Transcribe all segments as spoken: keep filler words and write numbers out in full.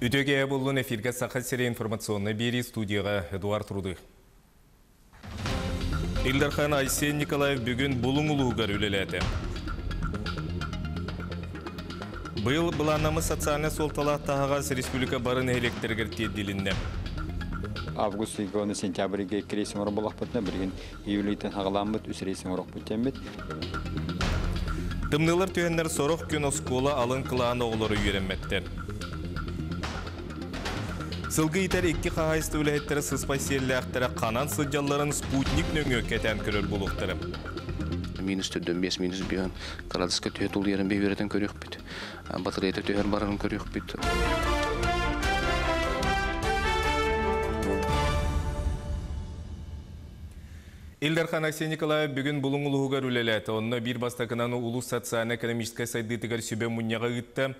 Үтөге боллун эфирге Саха сири информационный бири студияға Эдуард Руды. Ил Дархан Айсен Николаев бүгін Булуң улуугар үлеләді. Быйыл былааннаммыт социальнай суолталаах таһаҕас республика бары нэһилиэктэригэр тиэрдилиннэ. Август ыйга сентябрьге икки рейс оҥорор буоллахпытына, билигин июль ыйтан саҕаламмыт үс рейс оҥоруохпут диэммит. Тымныылар түһэннэр сорох күн оскуола алын кылааһын оҕолоро үөрэммэттэр. Сылгы иитэр икки хаһаайыстыба үлэһиттэрэ сыспай сиэллээхтэрэ ханан сылдьалларын спутник нөҥүө кэтээн көрөр буолуохтара. Минус төрдөн бес, минус биһөн кырадыска төһө тулуйарын бэйбэрэтин көрүөхпүт. Батареята төһөр барарын көрүөхпүт. Ил Дархан Айсен Николаев бүгүн Булуҥ улууһугар үлэлээтэ. Онно биир бастакынан улуус социально-экономическай сайдыытыгар сүбэ мунньаҕы ыытта.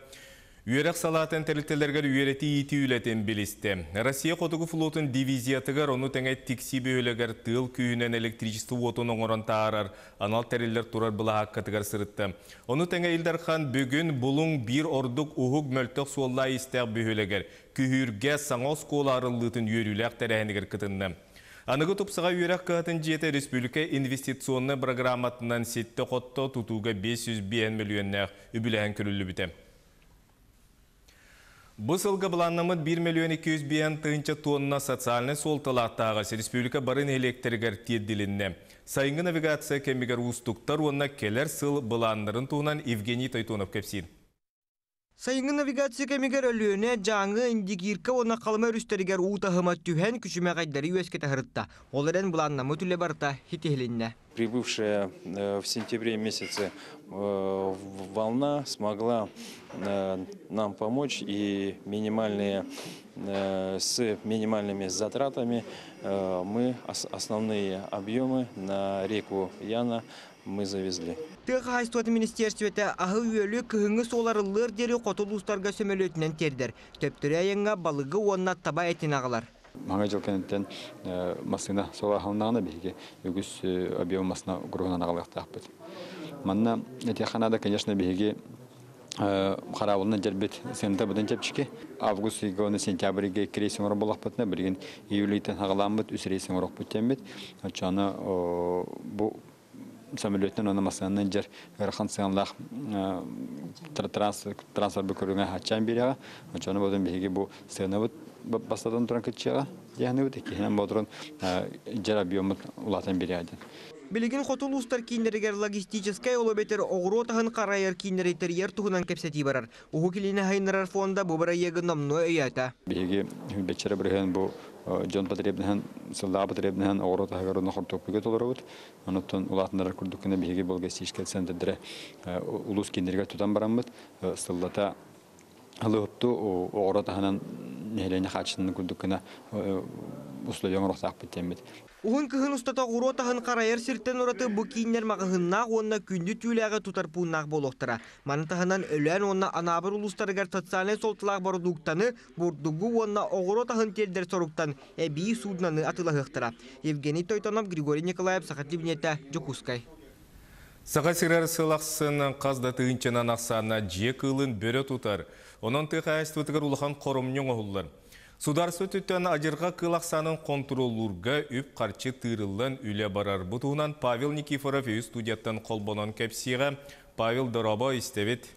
Үөрэх салаатын тэрилтэлэригэр үөрэтии-иитии үлэтин билистэ. Россия Хотугу флотун дивизиятыгар ону тэҥэ Тиксии бөһүөлэгэр тыал күүһүнэн электричество уотун оҥорон таһаарар анал тэриллэр турар былаһааккатыгар сырытта. Ону тэҥэ Ил Дархан бүгүн Булуҥ биир ордук уһук мөлтөх суоллаах-иистээх бөһүөлэгэр Күһүүргэ саҥа оскуола арыллыытын үөрүүлээх тэрээһинигэр кытынна. Аныгы тупсаҕай үөрэх кыһатын дьиэтэ республика инвестиционнай бырагырааматынан ситтэ-хотто, тутууга биэс сүүс биэс мөлүйүөннээх үбүлээһин көрүллүбүтэ. Бу сылга былааннаммыт биир миллион икки жүз биэс тыһыынча тонна социальнай суолталаах таһаҕас республика бары нэһилиэктэригэр тиэрдилиннэ. Сайыҥҥы навигация кэмигэр уустуктар уонна кэлэр сыл былааннарын туһунан Евгений Тойтонов кэпсиир. Сайыҥҥы навигация кэмигэр Өлүөнэ, Дьааҥы, Индигирка уонна Халыма өрүстэригэр уу таһыма түһэн күчүмэҕэйдэри үөскэтэ сырытта. Ол эрэн былааннаммыт үлэ барыта ситиһилиннэ. Прибывшая в сентябре месяце волна смогла нам помочь и минимальные, с минимальными затратами мы основные объемы на реку Яна мы завезли. Тыа хаһаайыстыбатын министиэристибэтэ аһы-үөлү кыһыҥҥы суол арыллыар диэри хоту улуустарга сөмөлүөтүнэн тиэрдэр. Төптөрү айаҥҥа балыгы уонна таба этин аҕалар. Маҥа дьыл кэнниттэн массыына суола аһылыннаҕына биһиги үгүс объем массыына груһунан аҕалыахтаахпыт. Манна этиэххэ наада, конечно, биһиги хараабылынан дьэрбит сыаната быдан чэпчэки. Август ыйга уонна сентябрь ыйга икки рейс оҥорор буоллахпытына, билигин июль ыйтан саҕаламмыт үс рейс оҥоруохпут диэммит. Оччоҕуна бу самолеттан уонна массыынанан дьэр ыарахан сыаналаах транспорт көрүҥэ хаччаан биэрэҕэ. Оччоҕуна бодун биһиги бу сыанабыт бастатан туран кыччыаҕа диэхнибит, иккиһинэн бодурун дьэр объеммут улаатан биэрэҕэ диэн. Билигин хоту улуустар кииннэригэр логистическай ол эбэтэр оҕуруот аһын харайар кииннэри тэрийэр туһунан кэпсэтии барар. Уһук Илини сайыннарар фонда бу бырайыагы номнуо өйөөтө. Биһиги бэччэрэ бырыһыан бу дьон потребностын, сыллааҕы потребностын оҕуруот аһыгар уонна хортуоппуйга толоробут. Онуттан улаатыннарар курдук гына биһиги бу логистическай центрдэрэ улуус кииннэригэр тутан бараммыт, сыллата ылыһыпту оҕуруот аһынан нэһилиэнньэ хаачыстыбатын курдук гына условия оҥоруохтаахпыт диэммит. Уһун кыһын устата оҕуруот аһын харайар сиртэн ураты бу кииннэр маҕаһыыннаах уонна күндү түүлээҕи тутар пууннаах буолуохтара. Маны таһынан Өлөөн уонна Анаабыр улуустарыгар социальнай суолталаах бородууктаны, бурдугу уонна оҕуруот аһын тиэрдэр соруктан эбии суудунаны атыылаһыахтара. Евгений Тойтонов, Григорий Николаев, Саха телевидениетэ, Дьокуускай. Саха сирэр сыл ахсын хас да тыһыынчанан ахсааннаах дьиэ кыылын бөрө тутар. Онон тыа хаһаайыстыбатыгар улахан хоромньу оҥоһуллар. Судаарыстыба өттүттэн адьырҕа кыыл ахсаанын хонтуруоллуурга үп-харчы тыырыллан үлэ барар. Бу туһунан Павел Никифоров өй студияттан холбонон кэпсиэҕэ. Павел, дорообо, истэбит.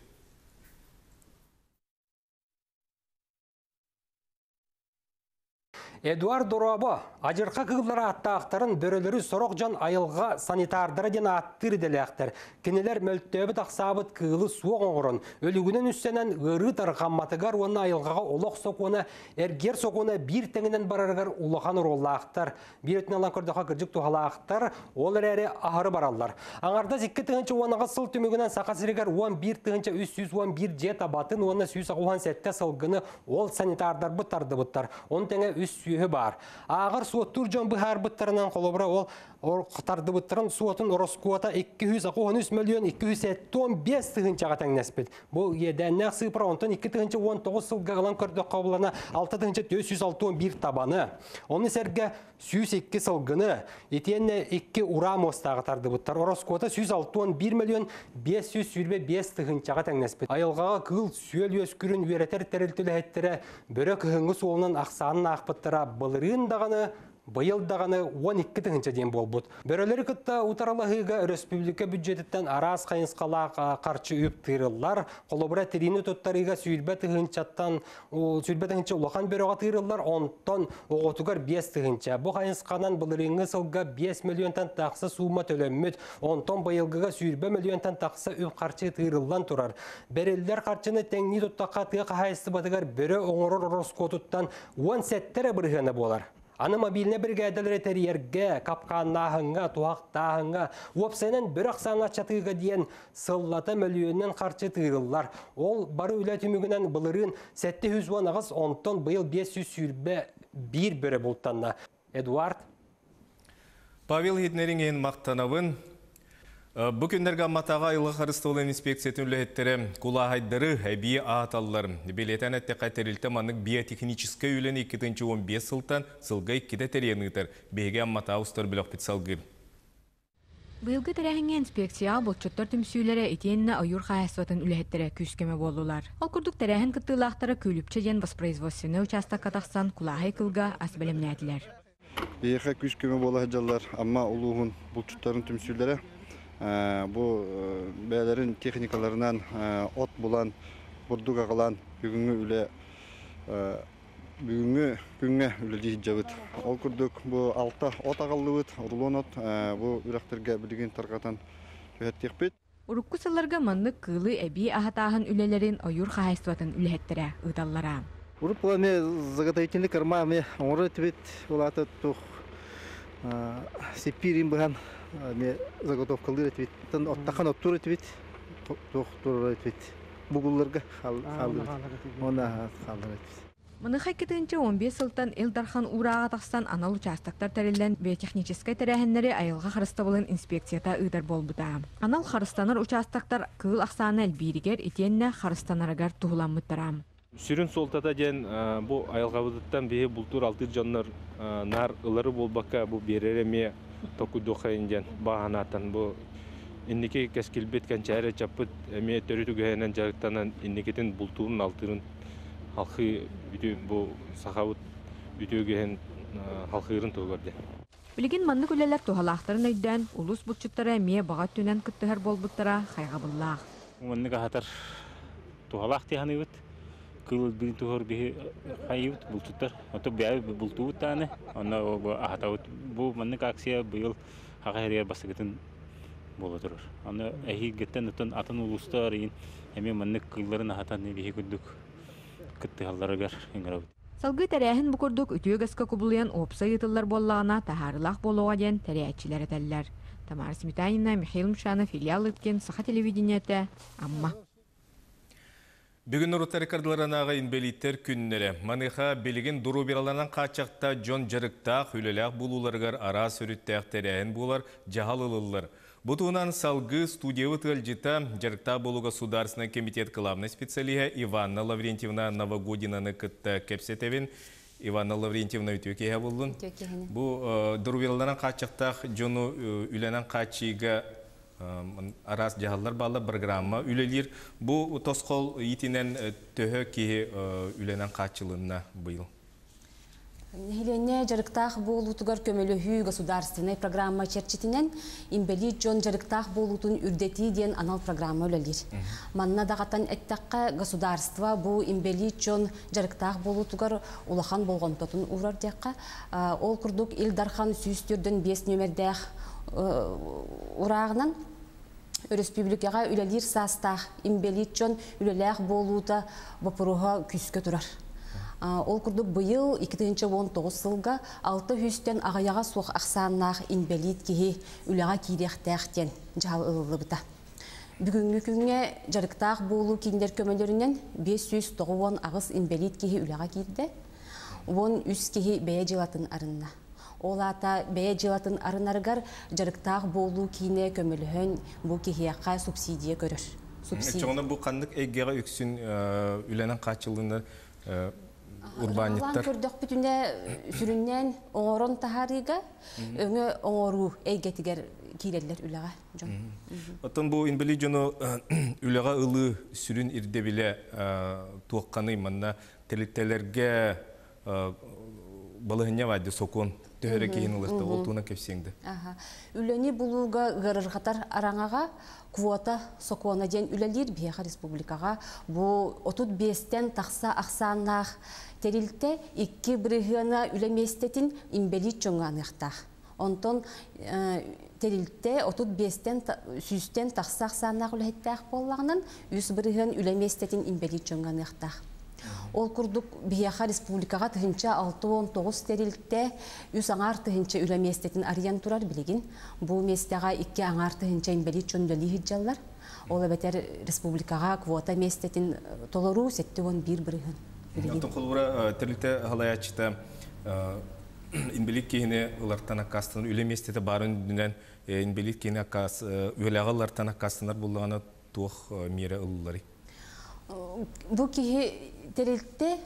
Эдуард дорообо, адьырҕа кыыллар ааттаахтарын бөрөлөрү сорох дьон айылҕа санитардара диэн ааттыыр идэлээхтэр. Кинилэр мөлтөөбүт ахсаабыт кыылы суох оҥорон, өлүгүнэн үссэнэн ыарыы тарҕамматыгар уонна айылҕаҕа олох сокуона, эргиэр сокуона биир тэҥинэн барарыгар улахан оруоллаахтар. Биир өттүнэн ылан көрдөххө кырдьык туһалаахтар, ол эрээри аһары бараллар. Аҥардас икки тыһыынча уон аҕыс сыл түмүгүнэн Саха сиригэр уон биир тыһыынча үс сүүс уон биир дьиэ табатын уонна сүүс аҕыс уон сэттэ сылгыны ол санитардарбыт тардыбыттар. Оны тэҥэ үс сүөһү баар. Ааҕар суоттуур дьон быһаарбыттарынан холобура ол тардыбыттарын суотун ороскуота икки сүүс алта үс миллион икки сүүс сэттэ уон биэс тыһыынчаҕа тэҥнэспит. Бу иэдээннээх сыыпара онтон икки тыһыынча уон тоҕус сылга ылан көрдөххө булана алта тыһыынча түөрт сүүс алта уон биир табаны. Ону сэргэ сүүс икки сылгыны, итиэннэ икки ураа муостааҕы тардыбыттар. Ороскуота сүүс алта уон биир миллион биэс сүүс сүүрбэ биэс тыһыынчаҕа тэҥнэспит. Айылҕаҕа кыыл сүөл үөскүрүн үөрэтэр тэрилтэлэһиттэрэ бөрө кыһыҥҥы суолунан ахсаанын аахпыттара былырыын даҕаны, быйыл даҕаны уон икки тыһыынча диэн буолбут. Бөрөлөрү кытта утарылаһыыга республика бюджетиттэн араас хайысхалаах харчы үп тыырыллар. Холобура тириини туттарыыга сүүрбэ тыһыынчаттан сүүрбэ тыһыынча улахан бөрөҕө тыырыллар, онтон оҕотугар биэс тыһыынча. Бу хайысханан былырыыҥҥы сылга биэс миллионтан тахса суума төлөммүт, онтон быйылгыга сүүрбэ миллионтан тахса үп харчы тыырыллан турар. Бериллер харчыны тэҥнии туттахха тыа хаһаайыстыбатыгар бөрө оҥорор ороскуотуттан уон сэттэ эрэ бырыһыана буолар. Аны мобильный бригадалары тэрийэргэ, капкааннааһыҥҥа, туһахтааһыҥҥа, уопсайынан бөрө ахсаана чатыыга диэн сыллата мөлүйүөнүнэн харчы тыырыллар. Ол бары үлэ түмүгүнэн былырыын сэттэ сүүс уон аҕыс, онтон быйыл биэс сүүс сүүрбэ биир бөрө бултанна. Эдуард. Павел Хитнериҥ мақтанабын. Бу күннэргэ Амматааҕы айылҕа харыстабылын инспекциятын үлэһиттэрэ кулааһайдары эбии ааталлар. Билиэтэн эттиэххэ тэрилтэ маннык биотехническай үлэни икки тыһыынча уон биэс сылтан сылга иккитэ тэрийэн ыытар. Биһиги Амматааҕы устар бөлөхпүт салгыы. Быйылгы тэрээһиҥҥэ инспекцияҕа булчуттар түмсүүлэрэ итиэннэ ойуур хаһаайыстыбатын үлэһиттэрэ күүскөмө буоллулар. Ол курдук тэрээһин кыттыылаахтара Күлүпчэ диэн воспроизводственнай учаастакка тахсан кулааһай кылга ас бэлэмнээтилэр. Биһиэхэ күүскөмө буола сылдьаллар Амма улууһун булчуттарын түмсүүлэрэ. Бу бэйэлэрин техникаларынан от булан, бурдук аҕалан бүгүҥҥү үлэ бүгүҥҥү күҥҥэ үлэлии сылдьабыт. Ол курдук бу алта от аҕаллыбыт, рулон от бу үрэхтэргэ билигин тарҕатан түһэртиэхпит. Урукку сылларга маннык кыылы эбии аһатааһын үлэлэрин ойуур хаһаайыстыбатын үлэһиттэрэ ыыталлара. Урут була ме заготовительный корма ме оҥорор этибит, улаата туох сеппиирин быһан ме заготовкалыыр этибит, оттахан оттуур этибит, туох турар этибит, бугулларга хааллар уонна хааллар этибит. Маныха икки тыһыынча уон биэс сылтан Ил Дархан уурааҕа тахсан анал учаастактар тэриллэн биотехническай тэрээһиннэри айылҕа харыстабылын инспекцията ыытар буолбута. Анал харыстанар учаастактар кыыл ахсаана элбииригэр итиэннэ харыстанарыгар туһуламмыттара. Сүрүн суолтата диэн бу айылҕабытыттан биһи бултуур алтыыр дьоннор нар ылары буолбакка бу биэрэр эмиэ токуйдуоххайын диэн бааһанааттан бу инники кэскилбит кэнчээри чаппыт эмиэ төрүт үгэһинэн дьарыктанан инникитин бултуурун алтыырын халхыы бүтү бу сахабыт бүтү үгэһин халхыырын туһугар диэн. Билигин маннык үлэлэр туһалаахтарын өйдөөн улус булчуттара эмиэ баҕа өттүнэн кыттыһар буолбуттара хайҕабыллаах. Маннык аһатар туһалаах тиһаныыбыт. Кыл бин туһор биһи хайыбыт булчуттар. Ото бэйэ бултуубут тааны, онно аһатабыт. Бу маннык акция быйыл хаҕа хэригэр бастакытын буола турар. Аны эһиилгиттэн атын атын улуустар иин эмиэ маннык кылларын аһатан биһи курдук кыттыһалларыгар ыҥырабыт. Салгыы тэрээһин бу курдук үтүө үгэскэ кубулуйан уопсай ыытыллар буоллаҕына таһаарыылаах буолуоҕа диэн тэрийээччилэр этэллэр. Тамара Сметанина, Михаил Мшанов, Илья Лыткин, Саха телевидениетэ, Амма. Бүгүн норуоттар ыккардыларынааҕы инбэлииттэр күннэрэ. Маныаха билигин доруобуйаларынан хааччахта дьон дьарыктаах, үлэлээх буолууларыгар араас өрүттээх тэрээһин буолар, дьаһал ылыллар. Бу туһунан салгыы студиябыт ыалдьыта дьарыктаах буолууга Государственный комитет главный специалиһа Иванна Лаврентьевна Новогодинаны кытта кэпсэтэбин. Иванна Лаврентьевна үтүө киэһэ буоллун. Бу доруобуйаларынан хааччахтаах дьону үлэнэн хааччыйыыга араас дьаһаллар бааллар, программа үлэлиир. Бу тосхол иитинэн төһө киһи үлэнэн хааччылынна быйыл? Нэһилиэнньэ дьарыктаах буолуутугар көмөлөһүү государственнай программа чэрчитинэн инбэлиит дьон дьарыктаах буолуутун үрдэтии диэн анал программа үлэлиир. Манна даҕатан эттэххэ государство бу инбэлиит дьон дьарыктаах буолуутугар улахан болҕомтотун уурар диэххэ. Ол курдук Ил Дархан сүүс төрдөн биэс нүөмэрдээх урааҕынан Республикаҕа үлэлиир саастаах инбэлиит дьон үлэлээх буолуута боппуруоһа күүскэ турар. Ол курдук быйыл икки тыһыынча уон тоҕус сылга алта сүүстэн аҕыйаҕа суох ахсааннаах инбэлиит киһи үлэҕэ киириэхтээх диэн дьаһал ылыллыбыта. Бүгүҥҥү күҥҥэ дьарыктаах буолуу кииннэр көмөлөрүнэн биэс сүүс тоҕус уон аҕыс инбэлиит киһи үлэҕэ киирдэ. он үс киһи бэйэ дьыалатын арынна. Ол аата бэйэ дьыалатын арынарыгар дьарыктаах буолуу киинэ көмөлөһөн бу киһиэхэ субсидия көрөр. Чоҕуна бу ханнык эйгэҕэ үксүн үлэнэн хааччыллыыннар урбаанньыттар? Көрдөхпүтүнэ сүрүннээн оҥорон таһаарыыга өҥө оҥоруу эйгэтигэр киирэллэр үлэҕэ дьон. Оттон бу инбэлиит дьону үлэҕэ ылыы сүрүн ирдэбилэ туохханый манна тэрилтэлэргэ балыһынньа баайды сокуон төһөрө киһин ылырта ол туунан кэпсиэҥ да. Үлэни булууга ыарырҕатар араҥаҕа квота сокуона диэн үлэлиир биһиэхэ республикаҕа бу отут биэстэн тахса ахсааннаах тэрилтэ икки бырыһыана үлэ миэстэтин инбэлиит дьоҥҥо аныахтаах. Онтон тэрилтэ отут биэстэн сүүстэн тахса ахсааннаах үлэһиттээх буоллаҕынан үс бырыһыан үлэ миэстэтин инбэлиит дьоҥҥо аныахтаах. Ол курдук биһиэхэ республикаҕа тыһынча алты уон тоҕус тэрилтэ үс аҥаар тыһынча үлэ миэстэтин арыйан турар билигин. Бу миэстэҕэ икки аҥаар тыһынча инбэлиит дьон үлэлии сылдьаллар. Ол эбэтэр республикаҕа квота миэстэтин толоруу сэттэ уон биир бырыһыан. Оттон холобура тэрилтэ халайааччыта инбэлиит киһини ылартан аккаастанар үлэ миэстэтэ баарын үрдүнэн инбэлиит киһини аккаас үлэҕэ ылартан аккаастанар буоллаҕына туох миэрэ ылылларый? Бу киһи тэрилтэ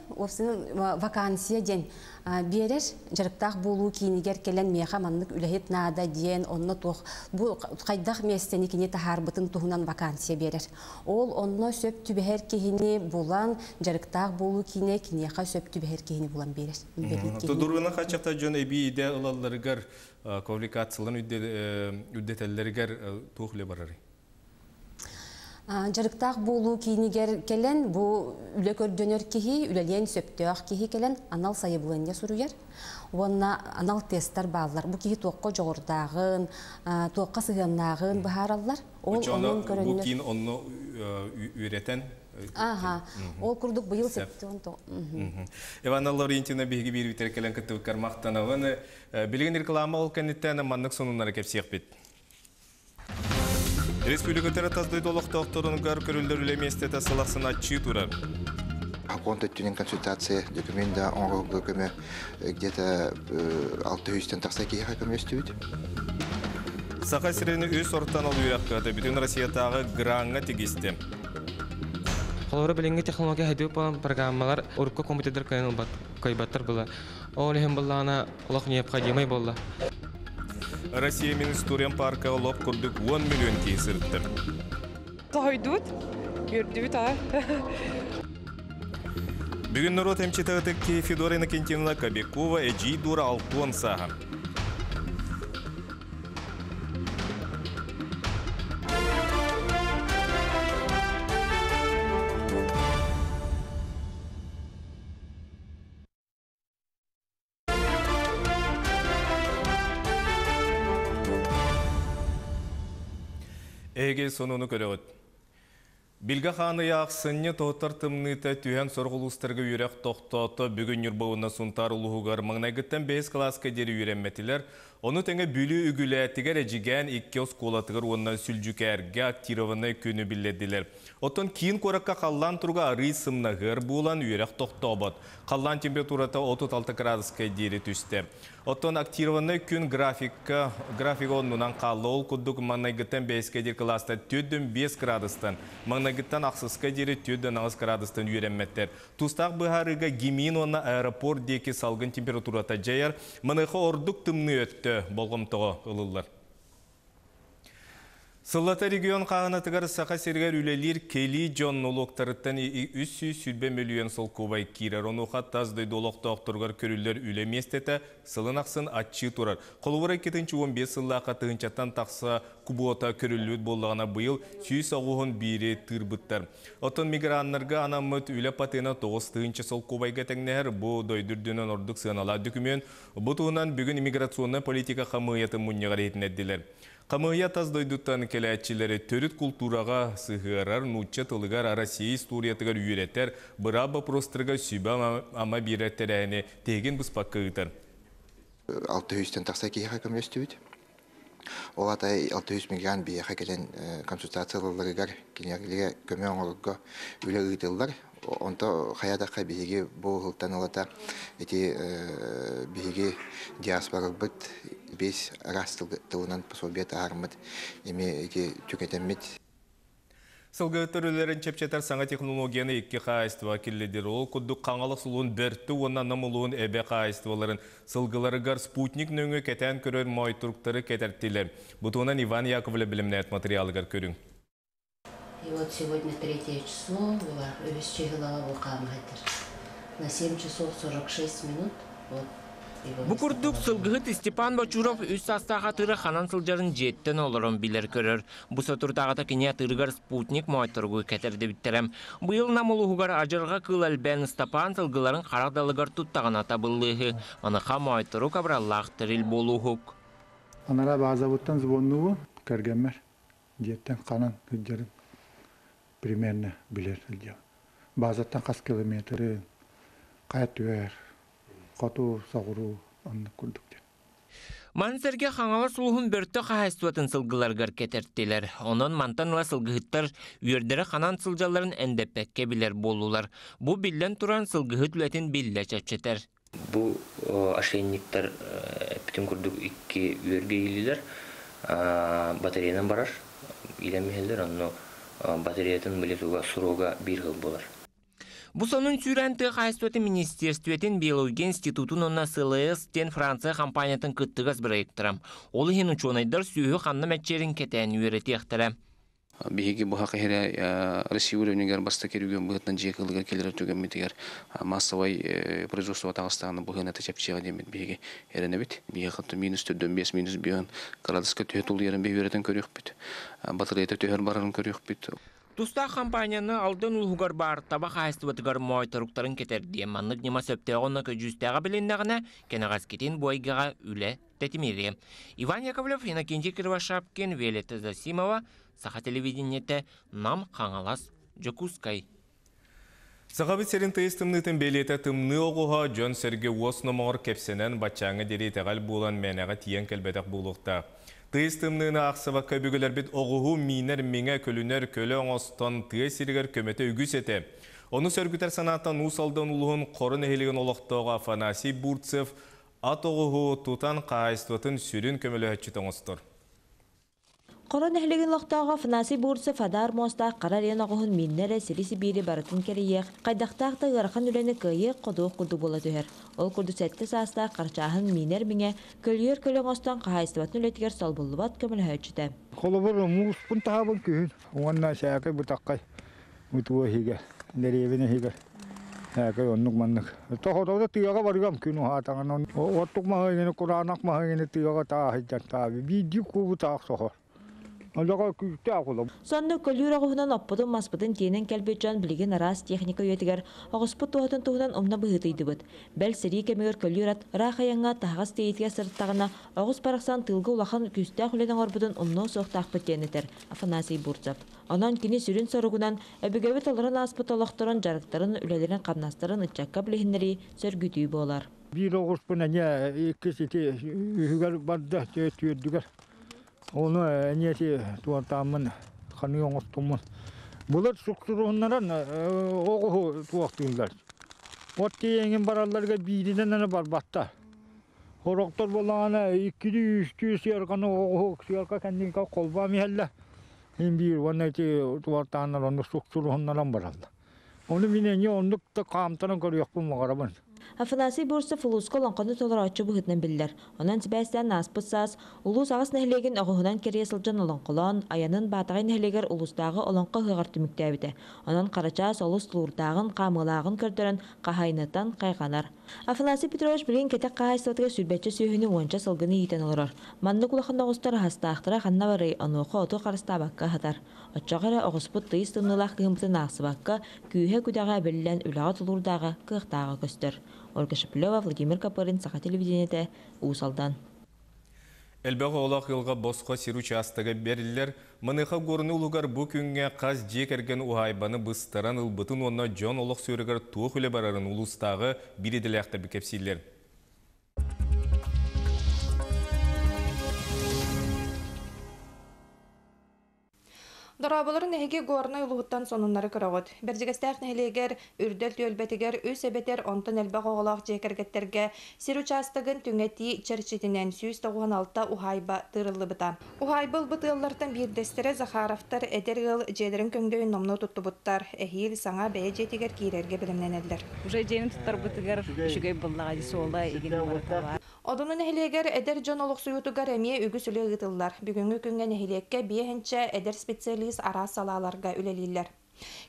вакансия диэн биэрэр дьарыктаах буолуу киинигэр кэлэн миэхэ маннык үлэһит наада диэн онно туох бу хайдах миэстэни кини таһаарбытын туһунан вакансия биэрэр. Ол онно сөп түбэһэр киһини булан дьарыктаах буолуу киинэ киниэхэ сөп түбэһэр киһини булан биэрэр. Тодуруна хачахта дьон эбии идэ ылалларыгар квалификацияларын үрдэтэллэригэр туох үлэ барарый? Дьарыктаах буолуу киинигэр кэлэн бу үлэ көрдөнөр киһи, үлэлиэн сөптөөх киһи кэлэн анал сайыбылыанньа суруйар. Уонна анал тесттар бааллар. Бу киһи туохха дьоҕурдааҕын, туохха сыһыаннааҕын быһаараллар. Ол онон көрөннөр. Бу киин онно үөрэтэн. Аха. Ол курдук быйыл сэттэ уон тоҕус. Иванна Лаврентьевна биһиги биир кэлэн кыттыбыккар махтанабын. Билигин реклама ол кэнниттэн маннык сонуннары кэпсиэхпит. Республикатара тас дойду олохтоохторугар көрүллэр үлэ миэстэтэ сыл ахсын аччыы турар. Сокуон төттүнэн консультация документ да оҥоһуллар көмө где-то алты жүзден тахса киһиэхэ көмөстүбүт. Саха сирин үс ортан ол үөрэххэ бүтүн Россиятааҕы граҥҥа тигисти. Холобура билиҥҥи технология хайдыы буолан программалар урукку компьютердэр кыайан кыайбаттар була. Ол иһин буллаҕына олох необходимый буолла. Россия Министурен парка лоп курдук он миллион киһи сырытты. Тойдут, үрдүбүт а. Бүгүн народ эмчитэ Федора Иннокентьевна Кобякова эдьиий Дура алтуон сааһа. Эге сонуну көрөҕүт. Билгэ хааны яақсынны тоғыттар тымныыта түһэн сорох улуустарга үөрэх тохтоото бүгүн Ньурба Сунтаар улууһугар маҥнайгыттан бэһис кылааска диэри үөрэммэтилэр. Ону тэҥэ Бүлүү үгүлээтигэр Эдьигээн икки оскуолатыгар уонна Сүлдьүкээргэ актированнай күнү биллэрдилэр. Оттон киин куоракка халлаан туруга арый сымнаһыар буолан үөрэх тохтообот. Халлаан температурата отут алта градуска диэри түстэ. Оттон актированнай күн графика графига оннунан хаалла ол курдук маҥнайгыттан бэһискэ диэри кылааста төрт бэс градустан, маҥнайгыттан ахсыска диэри төрт аҕыс градустан үөрэммэттэр. Тустаах быһаарыыга Гимин уонна аэропорт диэки салгын температурата дьайар, маныаха ордук тымныы өттө болҕомтоҕо ылыллар. Сыллата регион хааһынатыгар Саха сиригэр үлэлиир кэлии дьон нолуоктарыттан үс сүүс сүүрбэ мөлүйүөн солкуобай киирэр. Онуоха тас дойду олохтоохторугар көрүллэр үлэ миэстэтэ сылын ахсын аччыы турар. Холобура икки тыһыынча уон биэс сыллаахха тыһыынчаттан тахса кубуота көрүллүбүт буоллаҕына быйыл сүүс оҕуһун биири тыырбыттар. Оттон миграннарга анаммыт үлэ патына тоҕус тыһыынча солкуобайга тэҥнэһэр. Бу дойду үрдүнэн ордук сыаналаах дөкүмүөн. Бу туһунан бүгүн иммиграционнай политика хамыыйатын мунньаҕар иһитиннэрдилэр. Хамыыйа тас дойдуттан кэлээччилэри төрүт култуураҕа сыһыарар, нуучча тылыгар, Россия историятыгар үөрэтэр, быраап боппуруостарыгар сүбэ ама биэрэр тэрээһини тиһигин быспакка ыытар. Алты жүзден тахса киһиэхэ көмөлөстүбүт. Ол аата алты жүз мигрант биһиэхэ кэлэн консультацияларыгар кинилэргэ көмө оҥорорго үлэ ыытыллар. Онто хаядакка биһиги бу хылтан ылата ити биһиги диаспорабыт бес араас тылынан пособие таармыт эми ити түкетеммит. Сылгыһыттар үлэлэрин чэпчэтэр саҥа технологияны икки хаһаайыстыба киллэрдилэр. Ол курдук Хаҥалас улууһун Бөртө уонна Нам улууһун Эбэ хаһаайыстыбаларын сылгыларыгар спутник нөҥүө кэтээн көрөр моойторуктары кэтэртилэр. Бу туһунан Иван Яковлев бэлэмнээбит материалыгар көрүҥ. И вот сегодня третье число было, үһүс чыһылаҕа бу хаамыһайтар. На семь часов сорок шесть минут вот. Бу курдук сылгыһыт Степан Бочуров үс саастаах атыыра ханан сылдьарын дьиэттэн олорон билэр көрөр. Бу соторутааҕыта кини атыырыгар спутник моойторугу кэтэрдибиттэрэ. Быйыл Нам улууһугар адьырҕа кыыл элбээн Ыстапаан сылгыларын харах далыгар туттаҕына табыллыыһы. Маныаха моойторук абыраллаах тэрил буолууһук. Анара базабыттан звоннуубун кэргэммэр дьиэттэн ханан сылдьарын примерно билэр сылдьабын. Базаттан хас километрын, хайа түһэр, хоту, соҕуруу оннук курдук диэн. Маны сэргэ Хаҥалас улууһун Бөртө хаһаайыстыбатын сылгыларыгар кэтэртилэр. Онон мантан ыла сылгыһыттар үөрдэрэ ханан сылдьалларын эндэппэккэ билэр буоллулар. Бу биллэн туран сылгыһыт үлэтин биллэ чэпчэтэр. Бу ошейниктар бүтүн курдук икки үөргэ иилилэр батареянан барар иилэмиһэллэр, онно батареятын билетуга срога биир сыл буолар. Бу сонун сүүрээн тыа хаһаайыстыбатын министерствотын, биология институтун уонна С Л С диэн Франция компаниятын кыттыгас проектара. Ол иһин учуонайдар сүөһү ханна мэччийэрин кэтээн үөрэтиэхтэрэ. Биһиги бу хакыһыра Россия уровенигэр бастакы регион быһыытынан дьиэ кыылыгар кэлэр түгэммитигэр массовай производство таҕыстаҕына быһыына чэпчиэҕэ диэммит биһиги эрэнэбит. Биһиги хатта минус төрдөн бес минус биһын градуска төһө тулуйарын биһүөрэтин көрүөхпүт. Батареята төһөр барарын көрүөхпүт. Тустаах компанияны Алдан улууһугар баар таба хаһаайыстыбатыгар моойторуктарын кэтэрдиэ. Маннык ньыма сөптөөҕө уонна көдьүүстээҕэ билиннэҕинэ, кэнэҕэскитин бу эйгэҕэ үлэ тэтимириэ. Иван Яковлев, Иннокентий Кривошапкин, Виолетта Засимова, Саха телевидениетэ, Нам, Хаҥалас, Дьокуускай. Сахабыт сирин тыйыс тымныытын бэлиэтэ тымныы оҕуһа дьон сэргэ уос номоҕор кэпсэнэн баччааҥҥа диэри итэҕэл буолан мээнэҕэ тиийэн кэлбэтэх буолуохтаах. Тыйыс тымныыны аахсыбакка өбүгэлэрбит оҕуһу миинэр миҥэ, көлүнэр көлө оҥостон тыа сиригэр көмөтө үгүс этэ. Ону сөргүтэр санааттан Уус Алдан улууһун Хоро нэһилиэгин олохтооҕо Афанасий Бурцев ат оҕуһу тутан хаһаайыстыбатын сүрүн көмөлөһөөччүтэ оҥостор. Хоро нэһилиэгин олохтооҕо Афанасий Бурцев адаар муостаах хара эриэн оҕуһун мииннэ эрэ сири-сибиири барытын кэрийиэх, хайдахтаах да ыарахан үлэни кыайыах-хотуох курдук буола түһэр. Ол курдук сэттэ саастаах Харчааһын миинэр миҥэ, көлүйэр көлө оҥостон хаһаайыстыбатын үлэтигэр солбуллубат көмөлөһөөччүтэ. Холобур мууспун таһабын күһүн уонна сээкэй бутаккай мутуо иһигэр, дэриэбинэ иһигэр. Сээкэй оннук маннык. Тоһотода тыаҕа барыгам күн уһаатаҕын оттук маһыгыны кураанах маһыгыны тыаҕа тааһыйдан таабы биирдии куубу таах соһор. Олоҕо күүстээх улам. Соннук көлүүр оҕуһунан оппутун маспытын тиэнэн кэлбит дьон билигин араас техника үйэтигэр оҕуспут туһатын туһунан умна быһыытыйдыбыт. Бэл сэрии кэмигэр көлүүр ат ыраах айаҥҥа таһаҕас тиэйиитигэр сырыттаҕына оҕус барахсан тыылга улахан күүстээх үлэни оҥорбутун умнуо суохтаахпыт диэн этэр Афанасий Бурцев. Онон кини сүрүн соругунан өбүгэбит олорон ааспыт олохторун, дьарыктарын, үлэлэрин-хамнастарын ыччакка билиһиннэрии, сөргүтүү буолар. Биир оҕуспун эмиэ иккис ити үһүгэр барда түөрдүгэр. Ону эмиэ туортааммын ханыы оҥостуммун. Булар суксуруһуннаран оҕуһу туохтууллар. От тиэҥин баралларга бииринэн аны барбатта. Хорохтор болаана иккили үстүү сыарканы оҕуһу сыарка кэннинка холбаам иһэллэ. Хин биир уонна ити туортааннар ону суксуруһуннаран бараллар. Ону мин эмиэ оннук да хаамтаран көрүөхпүн баҕарабын. Афанасий Бурцев улууска олоҥхону толорооччу быһыытынан биллэр. Онон сибээстээн ааспыт саас улуус аҕыс нэһилиэгин оҕуһунан кэрийэ сылдьан олоҥхолоон, айанын Баатаҕай нэһилиэгэр улуустааҕы олоҥхо ыһыаҕар түмүктээбитэ. Онон Харачаас олус тулуурдааҕын, хаамыылааҕын көрдөрөн, хаһаайыныттан хайҕанар. Афанасий Петрович билигин кэтэх хаһаайыстыбатыгар сүүрбэччэ сүөһүнү уонча сылгыны иитэн олорор. Маннык улахан оҕустар аһастаахтара ханна барый, онуоха оту харыстаабакка аһатар. Оччоҕо эрэ оҕуспут тыйыс тымныылаах кыһыммытын аахсыбакка, күүһэ-күдэҕэ эбиллэн үлэҕэ тулуурдааҕа, кыахтааҕа көстөр. Ольга Шеплева, Владимир Копырин, Саха телевидениетэ, Уус Алдан. Элбэх оҕолоох ыалга босхо сир учаастага бэриллэр. Маныаха Горнай улууһугар бу күҥҥэ хас дьиэ кэргэн уһаайбаны быстаран ылбытын уонна дьон олохсуйарыгар туох үлэ барарын улуустааҕы биир идэлээхтэр кэпсииллэр. Дорооболорун эһиги Горнай улууһуттан сонуннары көрөҕүт. Бэрдьигэстээх нэһилиэгэр Үрдэл түөлбэтигэр үс эбэтэр онтон элбэх оҕолоох дьиэ кэргэттэргэ сир учаастагын түҥэтии чэрчитинэн сүүс тоҕуон алта уһаайба тыырыллыбыта. Уһаайба ылбыт ыаллартан биирдэстэрэ Захаровтар эдэр ыал дьиэлэрин көҥдөйүн номнуо туттубуттар. Эһиил саҥа бэйэ дьиэтигэр киирэргэ бэлэмнэнэллэр. Уже дьиэни туттарбытыгар үчүгэй буоллаҕа дии, суола игин барыта баар. Одуну нэһилиэгэр эдэр дьон олохсуйуутугар эмиэ үгүс үлэ ыытыллар. Бүгүҥҥү күҥҥэ нэһилиэккэ биэһинчэ эдэр специалист араас салааларга үлэлииллэр.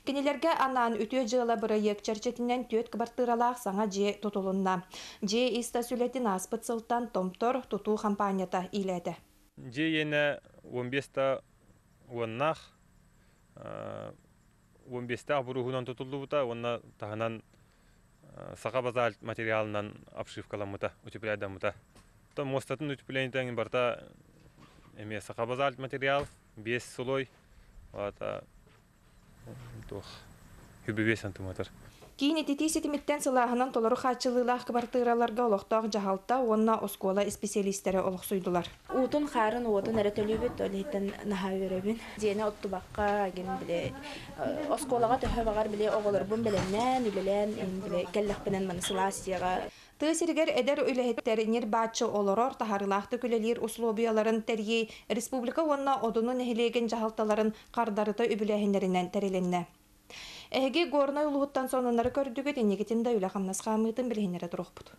Кинилэргэ анаан үтүө дьыала бырайыак чэрчитинэн түөрт кыбартыыралаах саҥа дьиэ тутулунна. Дьиэ ис-тас үлэтин ааспыт сылтан Томтор тутуу хампаанньата иилээтэ. Дьиэ иэнэ уон биэс уоннаах, уон биэстээх буруһунан тутуллубута уонна таһынан саха базальт материалынан обшивкаламмыта, утепляйдаммыта. То мостатын утеплениетен барта эме саха базальт материал, бес слой, вата туох хүбү бес сантиметр. Киин ититии ситимиттэн сылааһынан толору хааччылыылаах кыбартыыраларга олохтоох дьаһалта уонна оскуола исписэлиистэрэ олохсуйдулар. Уутун хаарын уотун эрэ төлүүбүт, ол иһиттэн наһаа үөрэбин. Дьиэни оттубакка, гин биле оскуолаҕа төһө баҕар биле оҕолорбун бэлэмнээн, үлэлээн, биле кэллэхпинэн маны сылаас дьиэҕэ. Тыа сиригэр эдэр үлэһиттэр ньир-бааччы олорор таһаарыылаахтык үлэлиир условияларын тэрийии республика уонна Одуну нэһилиэгин дьаһалталарын хардарыта үбүлээһиннэринэн тэрилиннэ. Эһиги Горнай улууһуттан сонуннары көрдүгүт, инникитин да үлэ хамнас хаамыытын билиһиннэрэ туруохпут.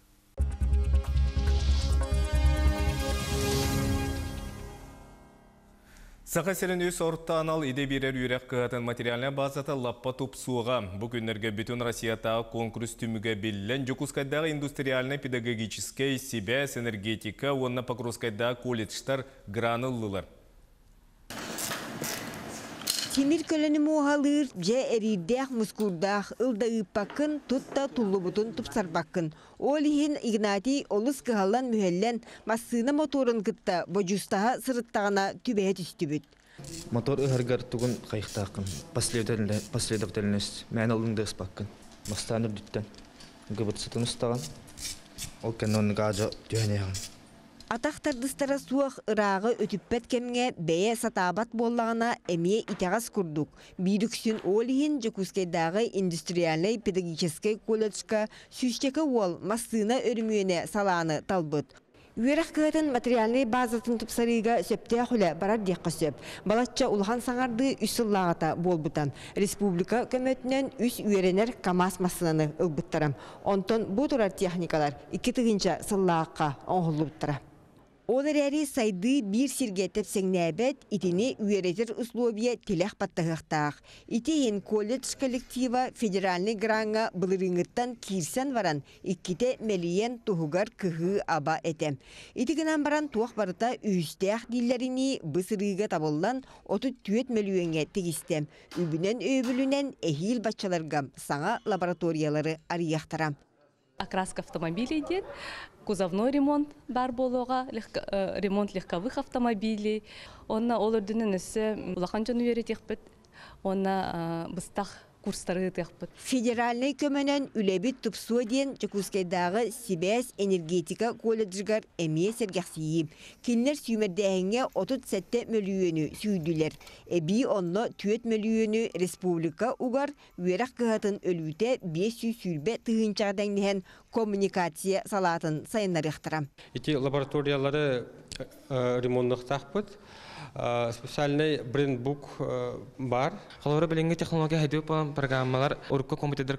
Саха сирин үс орто анал идэ биэрэр үөрэх кыһатын материальнай базата лаппа тупсуоҕа. Бу күннэргэ бүтүн Россиятааҕы конкурс түмүгэ биллэн, Дьокуускайдааҕы индустриальнай педагогическай сибээс, энергетика уонна Покровскайдааҕы колледжтар граны ыллылар. Тимир көлөнү муоһалыыр, дьэ эриирдээх мускуурдаах, ылда ыыппаккын, тутта туллубутун тупсарбаккын. Ол иһин Игнатий олус кыһаллан мүһэллэн, массыына моторун кытта бодьуустаһа сырыттаҕына түбэһэ түстүбүт. Мотор ыһаргар тугун хайыхтааххын, последовательность, мээн алын да ыспаккын. Бастаан үрдүттэн, гыбытсытын устаҕын, ол кэннэ оннук аадьа түһэнээҕин. Атах тардыстара суох ырааҕы өтүппэт кэмҥэ бэйэ сатаабат буоллаҕына эмиэ итэҕэс курдук. Биир үксүн ол иһин Дьокуускайдааҕы индустриальнай педагогическай колледжка сүүсчэкэ уол массыына өрүмүөнэ салааны талбыт. Үөрэх кыһатын материальнай базатын тупсарыыга сөптөөх үлэ барар диэххэ сөп. Балачча улахан саҥардыы үс сыллааҕыта буолбута. Республика көмөтүнэн үс үөрэнэр КАМАЗ массыынаны ылбыттара. Онтон бу турар техникалар икки тыһыынча сыллаахха оҥоһуллубуттара. Ол эрээри сайды биир сиргэ тэпсэҥнээбэт, итини үөрэтэр условия тилэх баттаһыахтаах. Ити иһин колледж коллектива федеральнай граҥҥа былырыыҥҥыттан киирсэн баран, иккитэ мэлийэн туһугар кыһыы аба этэ. Ити гынан баран туох барыта үһүстээх дииллэринии бысырыыга табыллан отут түөрт мөлүйүөҥҥэ тигистэ. Үбүнэн өйөбүлүнэн эһиил баччаларга саҥа лабораториялары арыйыахтара. Окраска автомобилей диэн, кузовной ремонт бар буолуоҕа, ремонт легковых автомобилей. Онна ол үрдүнэн өссө улахан дьону үөрэтиэхпит, онна быстах курстары ыытыахпыт. Федеральнай көмөнөн үлэбит тупсуо диэн Дьокуускайдааҕы сибээс энергетика колледжыгар эмиэ сэргэхсийии. Кинилэр сүүмэрдээһиҥҥэ отут сэттэ мөлүйүөнү сүүрдүлэр. Эбии онно түөрт мөлүйүөнү республика угар үөрэх кыһатын өлүүтэ биэс сүүс сүүрбэ тыһыынчаҕа тэҥнэһэн коммуникация салаатын сайыннарыахтара. Ити лабораториялары ремонттахпыт. Специальный брендбук бар. Холобура билиҥҥи технология хайдыы программалар урукку компьютердэр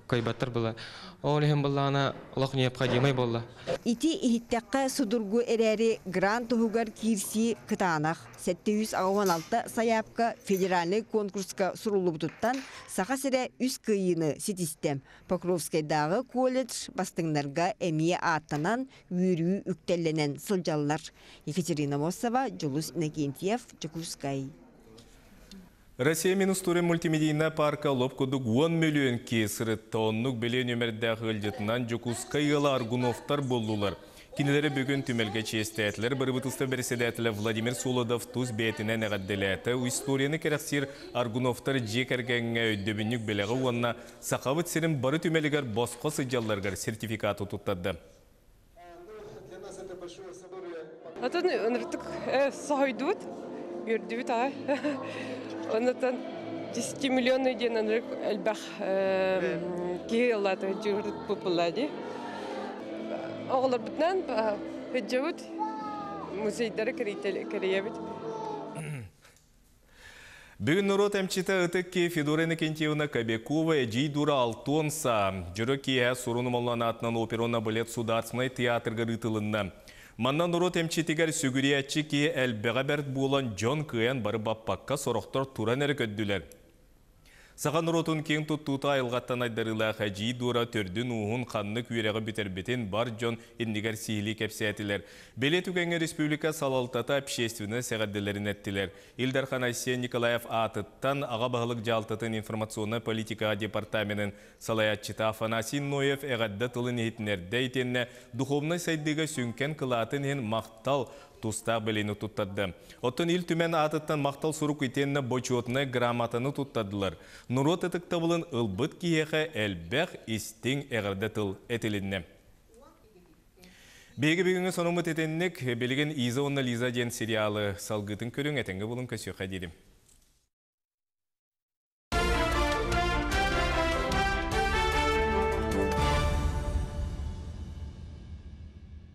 кыайбаттар была. Ол иһин буоллаҕына олох необходимый буолла. Ити иһиттэххэ судургу эрээри грант туһугар киирсии кытаанах. Сэттэ жүз аҕыс алта сайаапка федеральнай конкурска суруллубутуттан Саха сирэ үс кыайыыны ситистэ. Покровскайдааҕы колледж бастыҥнарга эмиэ ааттанан үөрүү үктэллэнэн сылдьаллар. Екатерина Мосова, Дьулус Иннокентьев, Дьокуускай. Россия Минустурин мультимедийная парка лоп кудук он миллион кесыры тоннук беле нөмердәғы ылжытынан Дьокуускай ыала Аргуновтар боллулар. Кинилэри бүгүн түмэлгэ чиэстээтилэр бырабыыталыстыба бэрэссэдээтэлэ Владимир Солодов тус бэйэтинэн эҕэрдэлээтэ. Историяны кэрэхсиир Аргуновтар дьиэ кэргэҥҥэ өйдөбүнньүк бэлэҕи уонна сахабыт сирин бары түмэлигэр босхо сылдьалларыгар сертификаты туттарды. Отон ыныртык соһойдубут, үөрдүбүт аҕай. Оннотон десять миллионы диэн ынырык элбэх киһи ыллаата дьуурут буолла дии. Оҕолорбутунан сылдьабыт, музейдары кэрийэбит. Бүгүн норуот эмчитэ ытык киһи Федора Иннокентьевна Кобякова Эдьиий Дора алта уон сааһа. Дьоро киэһэ Сурун Омоллоон аатынан опера уонна балет Судаарыстыбаннай театрга ыытылынна. Манна норуот эмчитигэр сүгүрүйээччи киһи элбэҕэ бэрт буолан, дьон кыайан бары баппакка, сорохтор туран эрэ көрдүлэр. Саха норуотун киэҥ туттуута айылҕаттан айдарыылаах Эдьиий Дора төрдүн-ууһун, ханнык үөрэҕи бүтэрбитин бар дьон иннигэр сиһилии кэпсээтилэр. Бэлиэ түгэҥҥэ республика салалтата, общественность эҕэрдэлэрин эттилэр. Ил Дархан Айсен Николаев аатыттан Аҕа баһылык дьаһалтатын информационнай политикаҕа департаменын салайааччыта Афанасий Ноев эҕэрдэ тылын иһитиннэрдэ итиэннэ духовнай сайдыыга сүҥкэн кылаатын иһин махтал тустаах бэлиэни туттарда. Оттон Ил Түмэн аатыттан махтал сурук итиэннэ бочуотунай грамотаны туттардылар. Норуот ытыктабылын ылбыт киһиэхэ элбэх истиҥ эҕэрдэ тыл этилиннэ. Биһиги бүгүҥҥү сонуммут итинник. Билигин Иза уонна Лиза диэн сериалы салгыытын көрүҥ, этэҥҥэ буолуҥ, көрсүөххэ диэри.